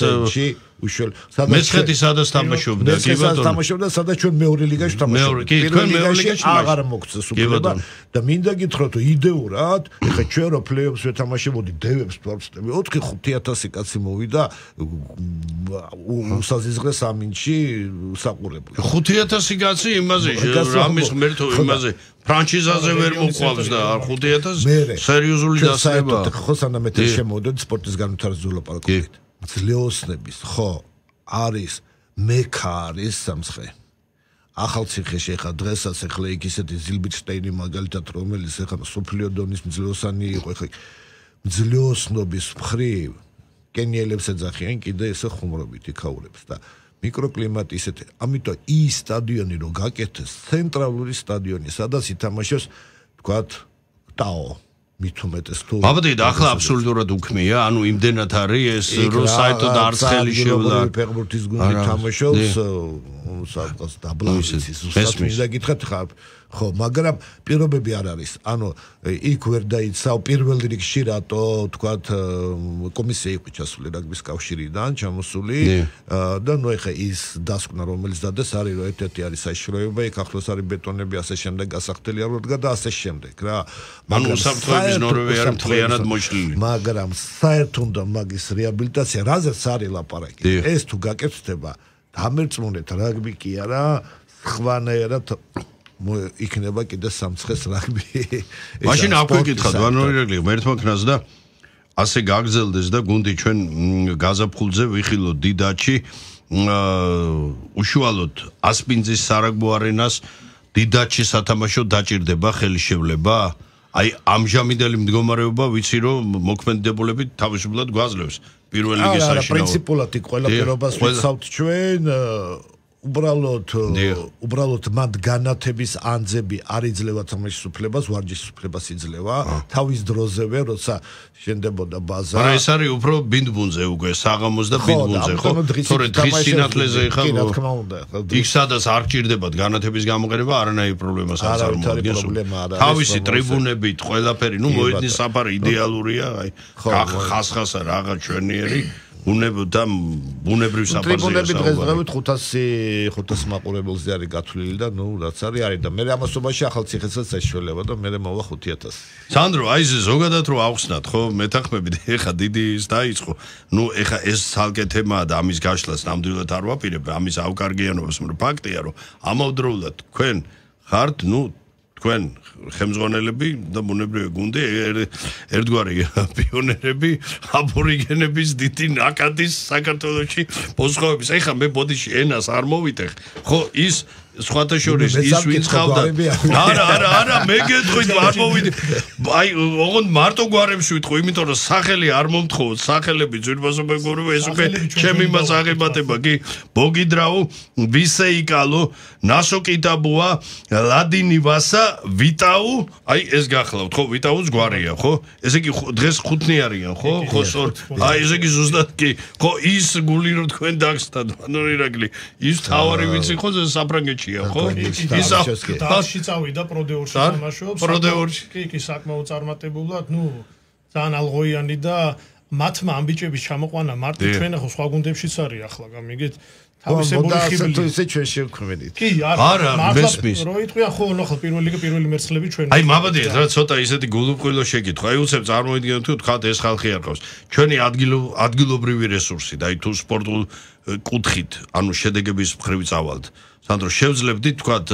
უშუალო მეცხრე სადაც თამაშობდა კი ბატონო თამაშობდა სადაც ჩვენ მეორე ლიგაში თამაშობთ კი თქვენ მეორე ლიგაში აღარ მოგწეს უფლება და მინდა გითხრათ იდეურად ეხა ჩვენ რო პლეიოფს ვეთამაშებოდი დევებს ვარწდები ოთხი ხუთი ათასი კაცი მოვიდა უსაზიზღრეს ამინში საყურებლად ხუთი ათასი კაცი იმაზე რამის ღმერთო იმაზე ფრანჩიზაზე ვერ მოყვავს და ხუთი ათასი სერიოზული დასება ხო სანამ ეთერ შემოვიდეთ სპორტის განვითარებაზე ვლაპარაკობთ ძლეოსნების ხო არის მექა არის სამცხე ახალციხეში ხა დღესაც ახლა იქ ისეთი ზილბიჩტეინი მაგალითად რომელიც ხა სოფლიო დონის ძლეოსანი იყო ხა ძლეოსნობის მხრივ კენიელებს ეძახიან კიდე ესე ხუმრობით იქაურებს და მიკროკლიმატი ისეთი ამიტომ ის სტადიონი რო გაკეთეს ცენტრალური სტადიონი სადაც ითამაშებს თქვათ ტაო მით უმეტეს თუ ბაბადე და ახლა აბსოლუტურად უქმია ანუ იმდენად არის ეს რო საერთოდ არც ხელი შეულა ფეხბურთის გუნდი თამაშობს სადღაც დაბლავიცის უბრალოდ მინდა გითხრათ ხარ ხო მაგრამ პირობები არ არის ანუ იქ ვერ დაიცავ პირველ რიგში რატო თქვათ კომისია იყო ჩასული რაგბის კავშირიდან ჩამოსული და ნუ ეხა ის დასკვნა რომელიც დადეს არის რომ ერთ-ერთი არის საშიშროება იქ ახლოს არის ბეტონები ასე შემდეგ გასახდელი არ ვდგა და ასე შემდეგ რა მაგრამ საფრთხეების ნორმები არის მთლიანად მოშლილი მაგრამ საერთოდ მაგის რეაბილიტაცია რაზეც არის ლაპარაკი ეს თუ გაკეთდება დამერწმუნეთ რაგბი კი არა ხვანაერად იქნება კიდე სამცხეს რაგბი. მაშინ აქვე გითხავთ ვანორიაკლი მერთმა ქნას და ასე გაგზელდეს და გუნდი ჩვენ გაზაფხულზე ვიხილოთ დიდაჩი უშუალოდ ასპინძის სარაგბო არენას დიდაჩი სათამაშო დაჭირდება ხელისშევლება? აი ამჟამინდელი მდგომარეობა ვიცი რომ მოქმედებულებით თავისუფლად გვაძლევს პირველ ლიგის საშინაო. არა, პრინციპულად იქ ყველა პირობას ვიცავთ ჩვენ უბრალოდ უბრალოდ მათ განათების ანძები არ იძლევა თამაშის უფლებას, ვარჯიშის უფლებას იძლევა. თავის დროზევე, როცა შენდებოდა ბაზა. არა, ეს არის უფრო ბინდბუნზე უკვე, საღამოს და ბინდბუნზე, ხო? თორე დღის სინათლეზე ხა. კი, რა თქმა უნდა. იქ სადაც არ ჭირდებათ განათების გამოყენება, არანაირი პრობლემას არ წარმოადგენს. თავისი ტრიბუნებით, ყველაფერი, ნუ მოედნის საფარი იდეალურია, აი, ხასხასა რაღაც ჩვენიერი ბუნებდა ბუნებრივ საფარზე. ტრიბუნები დღესდღეობით ხუთასი მაყურებელზე არის გათვლილი და ნუ რაც არის არის და მე ამასობაში ახალციხესაც ეშველება და მე მოვა ხუთი ათასი. სანდრო, აი ეს ზოგადად რო ავხსნათ, ხო, მეთანხმებით, ეხა დიდი ის დაიწყო. ნუ ეხა ეს ცალკე თემაა და ამის გაშლას ნამდვილად არ ვაპირებ, ამის ავკარგიანობას, მაგრამ ფაქტია, რომ ამავდროულად თქვენ ხართ, ნუ თქვენ ხელმძღვანელები და ბუნებრივი გუნდი ერთგვარი პიონერები აბორიგენების დიდი ნაკადის საქართველოში მოსხოვების. ეხლა მე ბოდიში ენას არ მოვიტეხ. ხო ის სხვათა შორის ის ვინც ხავდა. არა, არა, არა, მე გეტყვით არ მოვიდე. აი, ოღონდ მარტო გვარებში ვიტყვი, იმიტომ რომ სახელი არ მომთხოვოთ, სახელები ძვირფასო მეგობრებო, ეს უკვე ჩემი მასაღებატება, კი. ბოგიდრაუ, ვისეიკალო, ნასოკიტაბუა, ლადინი ვასა, ვიტაუ, აი ეს გახლავთ, ხო, ვიტაუს გვარია, ხო? ესე იგი დღეს ხუთნი არიან, ხო? ხო, სორ. აი ესე იგი ზუსტად კი. ხო, ის გული რო თქვენ დაგსტათ, ანუ ირაკლი, ის თავარი ვინც იყო საფრანგეთში ხო? ის დაში წავიდა პროდეორში თამაშობს. პროდეორში. კი, კი, საკმაოდ წარმატებულად, ნუ ძალიან ალღოიანი და მათმა ამბიჭების ჩამოყვანა მარტო ჩვენ ხო სხვა გუნდებშიც არის ახლა, გამიგეთ? თავისებური ხიბლი. ისე ჩვენ შევქმნით. კი, არა, მართლა რო იტყვია ხო, ნახო პირველი ლიგა პირველი მერცხლები ჩვენ. აი, მაბადია, რა ცოტა ისეთი გულუბრყვილო შეკითხვა. აი, უცებ წარმოიდგინოთ თუ თქვათ ეს ხალხი არ ყავს. ჩვენი ადგილობრივი რესურსი და აი თუ სპორტულ კუთხით, ანუ შედეგების მხრივ წავალთ. სანდრო, შევძლებდით თქვათ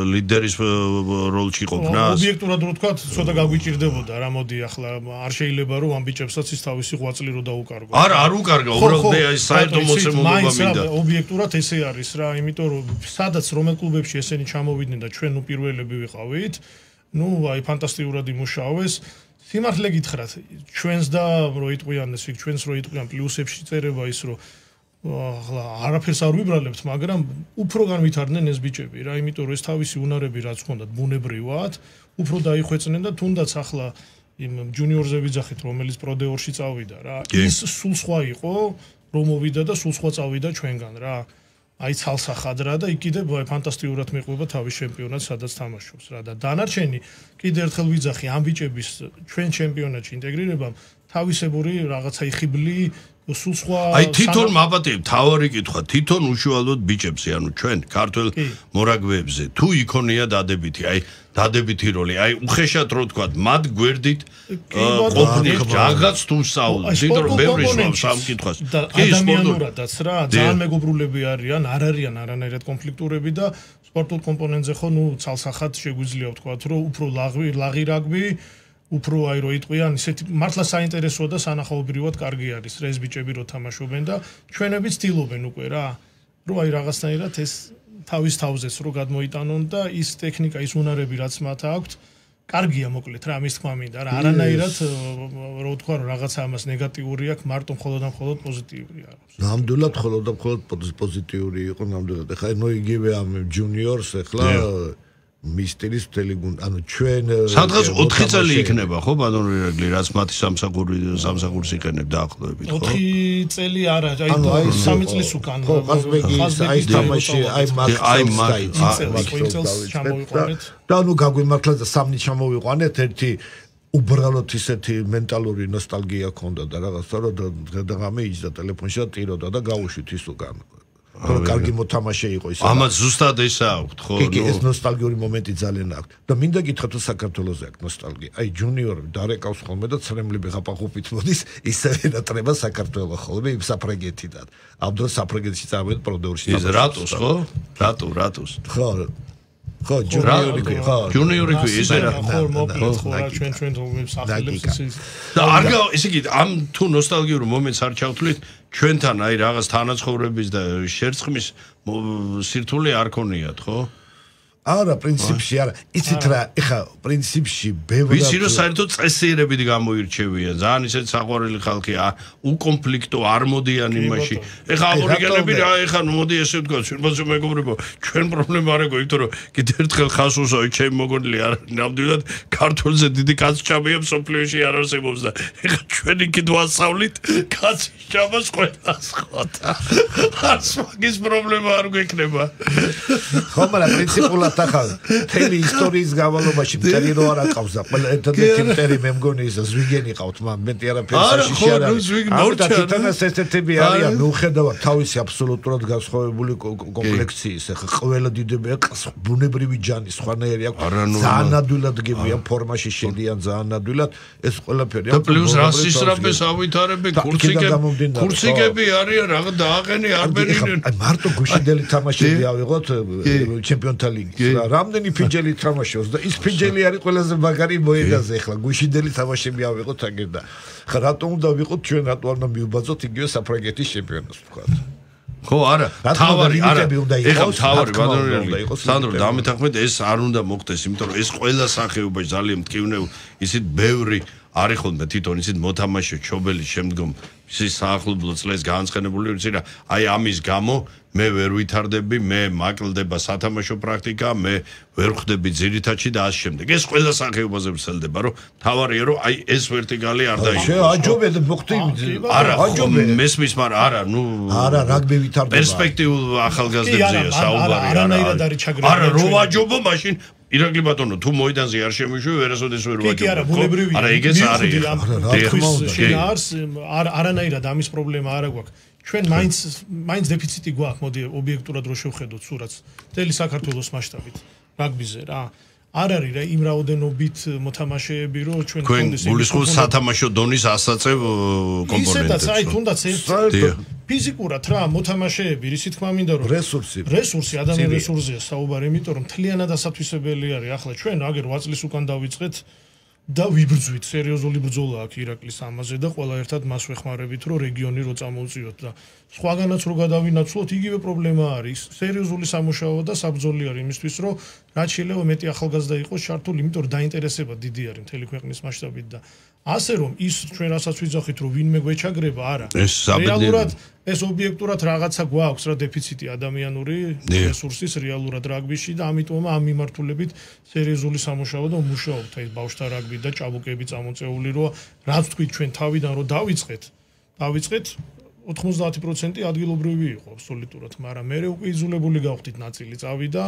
ლიდერის როლში ყოფნას? ობიექტურად რო თქვათ, ცოტა გაგვიჭირდებოდა რა, მოდი ახლა არ შეიძლება რომ ამ ბიჭებსაც ის თავისი ღვაწლი რო დაუკარგო. არა, არ უკარგა, უბრალოდ მე აი საერთო მოცემულობა მინდა. ობიექტურად ესე არის რა, იმიტომ რომ სადაც რომელ კლუბებში ესენი ჩამოვიდნენ და ჩვენ ნუ პირველები ვიყავით, ნუ აი ფანტასტიკურად იმუშავეს. სიმართლე გითხრათ, ჩვენს და რო იტყვიან ეს იქ ჩვენს რო იტყვიან პლუსებში წერება ის რომ ახლა არაფერს არ ვიბრალებთ, მაგრამ უფრო განვითარდნენ ეს ბიჭები რა, იმიტომ რომ ეს თავისი უნარები რაც ჰქონდათ ბუნებრივად, უფრო დაიხვეწნენ და თუნდაც ახლა იმ ჯუნიორზე ვიძახით, რომელიც პროდეორში წავიდა რა, ის სულ სხვა იყო, რომ მოვიდა და სულ სხვა წავიდა ჩვენგან რა. აი ცალსახად რა და იქ კიდე ფანტასტიკურად მეყვება თავის ჩემპიონატს, სადაც თამაშობს რა და დანარჩენი კიდე ერთხელ ვიძახი ამ ბიჭების ჩვენ ჩემპიონატში ინტეგრირებამ თავისებური რაღაცა იხიბლი სულ სხვა აი თვითონ მაბატე თავარი კითხვა თვითონ უშუალოდ ბიჭებზე ანუ ჩვენ ქართველ მორაგბეებზე თუ იქონია დადებითი აი დადებითი როლი აი უხეშად რო თქვა მათ გვერდით ყოფნით რაღაც თუ საუბრობთ იმიტომ რომ ბევრი შევავს ამ კითხვას ადამიანურადაც რა ძალიან მეგობრულები არიან არ არიან არანაირად კონფლიქტურები და სპორტულ კომპონენტზე ხო ნუ ცალსახად შეგვიძლია ვთქვათ რომ უფრო ლაღი ლაღი რაგბი უფრო აი რო იტყვიან ისეთი მართლა საინტერესოა და სანახაობრივად კარგი არის რა ეს ბიჭები რო თამაშობენ და ჩვენები ცდილობენ უკვე რა რომ აი რაღაცნაირად ეს თავის თავზეც რო გადმოიტანონ და ის ტექნიკა ის უნარები რაც მათ აქვთ კარგია მოკლედ რა ამის თქმა მინდა რა არანაირად რო ვთქვა რომ რაღაცა ამას ნეგატიური აქვს მარტო მხოლოდ და მხოლოდ პოზიტიური არის ნამდვილად მხოლოდ და მხოლოდ პოზიტიური იყო ნამდვილად ეხლა ნუ იგივე ამ ჯუნიორს ეხლა მისტერის ტელეგუნ ანუ ჩვენ სადღაც ოთხი წელი იქნება ხო ბანონ რეგლი რაც მათი სამსახური სამსახურს იყენებ დაახლოებით ხო ოთხი წელი არა აი სამი წლის უკან ხო ხაზბეგის აი თამაში აი მაგს ჩამოვიყვანეთ და ნუ გაგვიმართლა და სამნი ჩამოვიყვანეთ ერთი უბრალოდ ისეთი მენტალური ნოსტალგია ქონდა და რაღაცა რომ დღე-დღე იჯდა ტელეფონში და ტიროდა და გავუშვით ის უკან რომ კარგი მოთამაშე იყო ის. ამას ზუსტად ესა აქვს, ხო? კი, ეს ნოსტალგიური მომენტი ძალიან აქვს. და მინდა გითხრათ თუ საქართველოზე აქვს ნოსტალგია. აი ჯუნიორები დარეკავს ხოლმე და ცრემლები ღაპაღუპით მოდის, ისევე დატრება საქართველოს ხოლმე იმ საფრანგეთიდან. ამ დროს საფრანგეთში წავედი პროდეურში. ის რატოს, ხო? რატო, რატოს? ხო. ხო ჯუნიორი კი ხო ჯუნიორი კი ესე რა ხო მოკლედ ხო რა ჩვენ ჩვენ თომებს ახალებს ის და არ გა ესე იგი ამ თუ ნოსტალგიურ მომენტს არ ჩავთვლით ჩვენთან აი რაღაც თანაცხოვრების და შერწყმის სირთულე არ ქონიათ ხო არა პრინციპში არა იცით რა ეხა პრინციპში ბევრი ვიცი რომ საერთოდ წესიერებით გამოირჩევიან ძალიან ისეთ საყვარელი ხალხია უკონფლიქტო არ მოდიან იმაში ეხა აბორიგენები რა ეხა მოდი ესე ვთქვა ჩვენბაზე მეგობრებო ჩვენ პრობლემა არ აქვს იმიტომ რომ კიდე ერთხელ ხას უსაო ჩემი მოგონილი არ ნამდვილად ქართულზე დიდი კაცჭამია სოფლიოში არ არსებობს და ეხა ჩვენი კიდე ვასწავლით კაცჭამას ყველას ხოთა არც მაგის პრობლემა არ გვექნება ხო მაგრამ პრინციპულად ახალ თემი ისტორიის გავალობაში მტერი რო არ აყავს და ყველა ერთადერთი მტერი მე მგონი ისა ზვიგენი ყავთ მაგრამ მეტი არაფერი საშიში არ არის ამიტომ თითქოს ესეთები არიან მიუხედავად თავისი აბსოლუტურად განსხვავებული კომპლექციის ახლა ყველა დიდები ბუნებრივი ჯანი სხვანაირი აქვს ძალიან ადვილად გებიან ფორმაში შედიან ძალიან ადვილად ეს ყველაფერი და პლუს რასისტრაფეს ავითარებენ კურსიკები კურსიკები არიან რაღა დააყენი არ ბერინენ მარტო გუშინდელი თამაშები ავიღოთ ჩემპიონთა ლიგის რამდენი ფიჯელი თამაშობს და ის ფიჯელი არის ყველაზე მაგარი მოედაზე ახლა გუშინდელი თამაშები ავიღოთ აგერ და ხა რატომ უნდა ვიყოთ ჩვენ რატო არ უნდა მივბაძოთ იგივე საფრანგეთის ჩემპიონატს ვთქვა ხო არა თავარი არა ეხლა თავარი ბატონო სანდრო დამეთანხმეთ ეს არ უნდა მოხდეს იმიტომ რომ ეს ყველა სახეობა ძალიან მტკივნეულ ისეთ ბევრი არის ხოლმე თვითონ ისეთ მოთამაშე ჩობელი შემდგომ ის საახლობლო წლებს განცხენებული ვიცი რა აი ამის გამო მე ვერ ვითარდები მე მაკლდება სათამაშო პრაქტიკა მე ვერ ხვდები ძირითადში და ამ შემდეგ ეს ყველა სახეობაზე ვსელდება რომ თავარია რომ აი ეს ვერტიკალი არ დაიწყოს შე აჯობედ მოხდი არა აჯობედ მესმის მაგრამ არა ნუ არა რაგბი ვითარდება პერსპექტიულ ახალგაზრდებზეა საუბარი არა არა რო აჯობო მაშინ ირაკლი ბატონო თუ მოედანზე არ შემიშვი ვერასოდეს ვერ ვაჯობ კი არა ბუნებრივია არა ეგეც არის შინაარს არანაირად ამის პრობლემა არ აქვს ჩვენ მაინც მაინც დეფიციტი გვაქვს მოდი ობიექტურად რო შევხედოთ სურათს მთელი საქართველოს მასშტაბით რაგბიზე რა არ არის რა იმ რაოდენობით მოთამაშეები რო ჩვენ გქონდეს გულისხმობს სათამაშო დონის ასაწევ კომპონენტებს ისედაც აი თუნდაც ფიზიკურად რა მოთამაშეები ისი თქმა მინდა რომ რესურსი რესურსი ადამიანის რესურსია საუბარი იმიტომ რომ მთლიანად ასათვისებელი არის ახლა ჩვენ აგერ ორი წლის უკან დავიწყეთ და ვიბრძვით სერიოზული ბრძოლა აქვს ირაკლის ამაზე და ყველა ერთად მას ვეხმარებით რომ რეგიონი რო წამოუწიოთ და სხვაგანაც რო გადავინაცვლოთ იგივე პრობლემა არის სერიოზული სამუშაო და საბრძოლი არის იმისთვის რომ რაც შეიძლება მეტი ახალგაზრდა იყოს ჩართული იმიტომ რომ დაინტერესება დიდი არის მთელი ქვეყნის მასშტაბით და ასე რომ ის ჩვენ რასაც ვიძახით რომ ვინმე გვეჩაგრება არა რეალურად ეს ობიექტურად რაღაცა გვაქვს რა დეფიციტი ადამიანური რესურსის რეალურად რაგბიში და ამიტომ ამ მიმართულებით სერიოზული სამუშაო და მუშაობთ აი ბავშვთა რაგბი და ჭაბუკები წამოწეული რომ რაც თქვით ჩვენ თავიდან რომ დავიწყეთ დავიწყეთ ოთხმოცდაათი პროცენტი ადგილობრივი იყო აბსოლუტურად მაგრამ მე უკვე იძულებული გავხდით ნაწილი წავიდა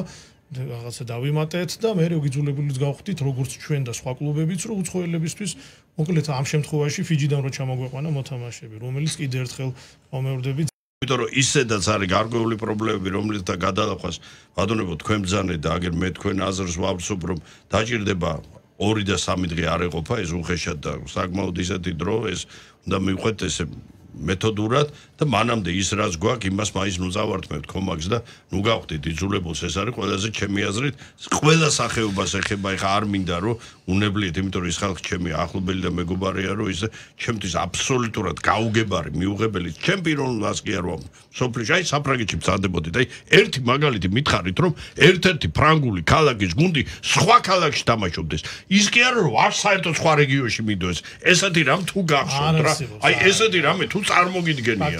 რაღაცა დავიმატეთ და მე რეგიძულებულიც გავხდით როგორც ჩვენ და სხვა კლუბებიც რომ უცხოელებისთვის მოკლედ ამ შემთხვევაში ფიჯიდან რო ჩამოგვეყვანა მოთამაშეები რომელიც კიდე ერთხელ მომეორდები იმიტომ რომ ისედაც არის გარკვეული პრობლემები რომლითაც გადალახვას ბატონებო თქვენ ბრძანეთ და აგერ მე თქვენ აზრს ვავსობ რომ დაჭირდება ორი და სამი დღე არ ეყოფა ეს უხეშად და საკმაოდ ისეთი დრო ეს უნდა მივყვეთ ესე მეთოდურად და მანამდე ის რაც გვაქვს იმას მაინც ნუ წავართმევთ კომაგს და ნუ გავხდით იძულებულს ეს არის ყველაზე ჩემი აზრით ყველა სახეობას ეხება ეხა არ მინდა რომ უნებლიეთ იმიტომ რომ ის ხალხი ჩემი ახლობელი და მეგობარია რომ ის ჩემთვის აბსოლუტურად გაუგებარი მიუღებელი ჩემ პიროვნულს კი არ ვამ სოფლიში აი საფრანგეთში მცადებოდით აი ერთი მაგალითი მითხარით რომ ერთ-ერთი ფრანგული ქალაქის გუნდი სხვა ქალაქში თამაშობდეს ის კი არა რომ არ საერთოდ სხვა რეგიონში მიდოს ესეთი რამ თუ გახსოვთ რა აი ესეთი რამე თუ წარმოგიდგენია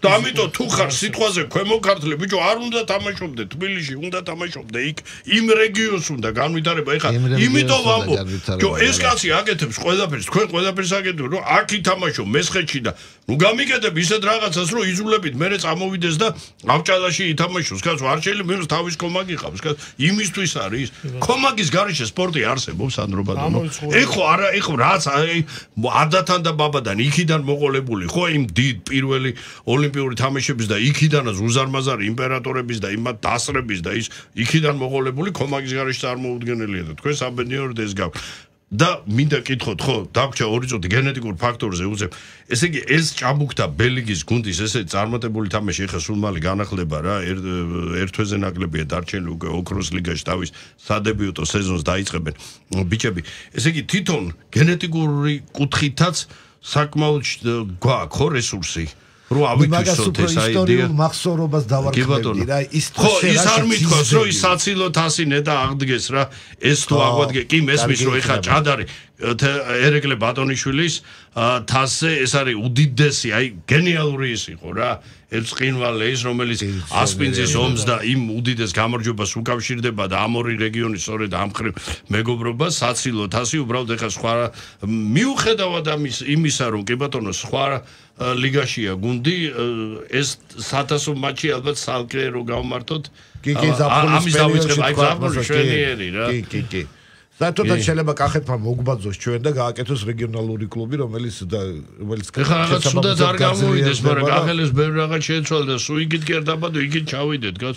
და ამიტომ თუ ხარ სიტყვაზე ქვემო ქართლი ბიჭო არ უნდა თამაშობდე თბილისში უნდა თამაშობდე იქ იმ რეგიონს უნდა განვითარება ეხა იმიტომ ვამბობ რომ ეს კაცი აკეთებს ყველაფერს თქვენ ყველაფერს აკეთებთ რომ აქ ითამაშო მესხეთში და ნუ გამიკეთებ ისეთ რაღაცას რომ იზულებით მე წამოვიდეს და ავჭალაში ითამაშოს კაც არ შეიძლება მის თავის კომაგი ყავს კაც იმისთვის არის კომაგის გარეშე სპორტი არსებობს სანდრო ბატონო ეხო არა ეხო რაც ადათან და ბაბადან იქიდან მოყოლებული ხო იმ დიდ პირველი ოლიმპიური თამაშების და იქიდანაც უზარმაზარი იმპერატორების და იმათ დასრების და ის იქიდან მოყოლებული კომაგის გარეშე წარმოუდგენელია და თქვენ საბედნიეროდ ეს გაქვთ და მინდა კითხოთ, ხო, დაგვრჩა ორი წუთი გენეტიკურ ფაქტორზე უძებ. ესე იგი, ეს ჭაბუკთა ბელიგის გუნდის ესე წარმატებული თამაში ეხა სულ მალე განახლება რა, ერთ თვეზე ნაკლებია დარჩენილი უკვე ოქროს ლიგაში თავის სადებიუტო სეზონს დაიწყებენ. ბიჭები, ესე იგი, თვითონ გენეტიკური კუთხითაც საკმაოდ გვაქვს ხო რესურსი? რო ავითვისოთ ეს აიდეა მახსოვრობას დავარქმევდი რა ის ხო ის არ მithქვას რომ ის საცილო თასინე და აღდგეს რა ეს თუ აღვადგე კი მესმის რომ ეხა ჭადარი ერეკლე ბატონიშვილის თასზე ეს არის უდიდესი აი გენიალური ის იყო რა ერთ ყინვალე ის რომელიც ასპინძის ომს და იმ უდიდეს გამარჯვებას უკავშირდება და ამ ორი რეგიონის სწორედ ამ ხრივ მეგობრობა საცილო თასი უბრალოდ ეხა სხვა მიუხედავად ამის იმისა რომ კი ბატონო სხვა ლიგაშია გუნდი ეს საათასო მატჩი ალბათ სალკე რო გავმართოთ კი კი ზაფხულის პერიოდში აი ზაფხულის შვენიერი რა კი კი კი საერთოდ შეიძლება კახეთმა მოგბაძოს ჩვენ და გააკეთოს რეგიონალური კლუბი რომელიც რომელიც ეხლა რაღაც სუდად არ გამოვიდეს მაგრამ კახელეს ბევრი რაღაც შეეცვალა და სულ იგით კი არ დაბადო იგით ჩავიდეთ გაც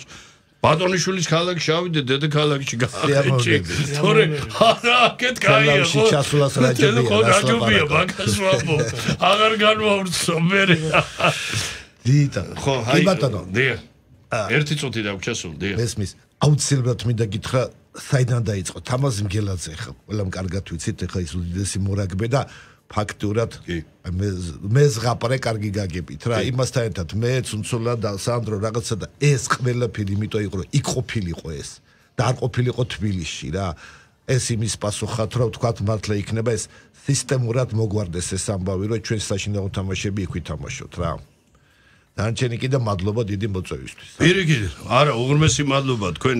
ბატონიშვილის ქალაქში ჩავიდეთ დედაქალაქში გააკეთე თორე არა აკეთ კაია ხო ჩასულას რაჯობია რაჯობია მაგას ვამბო აღარ განვავრცო მე დიდა ხო აი ბატონო დია ერთი წუთი დაგვრჩასულ დია ესმის აუცილებლად მინდა გითხრა საიდან დაიწყო თამაზ მგელაძე ხა ყველამ კარგად ვიცით ეხა ის უდიდესი მორაგბე და ფაქტურად მე მე ზღაპრე კარგი გაგებით რა იმასთან ერთად მე ცუნცულა და სანდრო რაღაცა და ეს ყველაფერი იმიტომ იყო რომ იქ ყოფილიყო ეს და არ ყოფილიყო თბილისში რა ეს იმის პასუხად რომ თქვა მართლა იქნება ეს სისტემურად მოგვარდეს ეს ამბავი რომ ჩვენ საშინაო თამაშები იქ ვითამაშოთ რა დანარჩენი კიდე მადლობა დიდი მოწვევისთვის პირიქით არა უღრმესი მადლობა თქვენ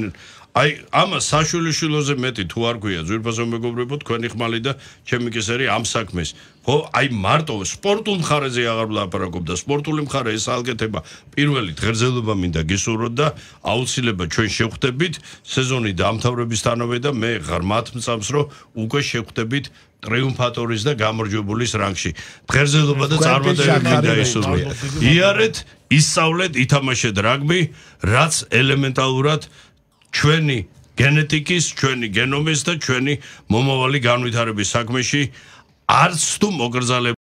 აი ამას საშვილიშვილოზე მეტი თუ არ გვია ძვირფასო მეგობრებო თქვენი ხმალი და ჩემი კისერი ამ საქმეს ხო აი მარტო სპორტულ მხარეზე აღარ ვლაპარაკობ და სპორტული მხარე ეს ალგეთება პირველი ღერძელობა მინდა გისურვოთ და აუცილებლად ჩვენ შევხვდებით სეზონი დაამთავრებისთანავე და მე ღრმათ მწამს რომ უკვე შევხვდებით ტრიუმფატორის და გამარჯვებულის რანგში ღერძელობა და წარმატებები მინდა ისურვოთ იარეთ ისწავლეთ ითამაშეთ რაგბი რაც ელემენტალურად ჩვენი გენეტიკის, ჩვენი გენომის და ჩვენი მომავალი განვითარების საქმეში არც თუ მოგრძალებული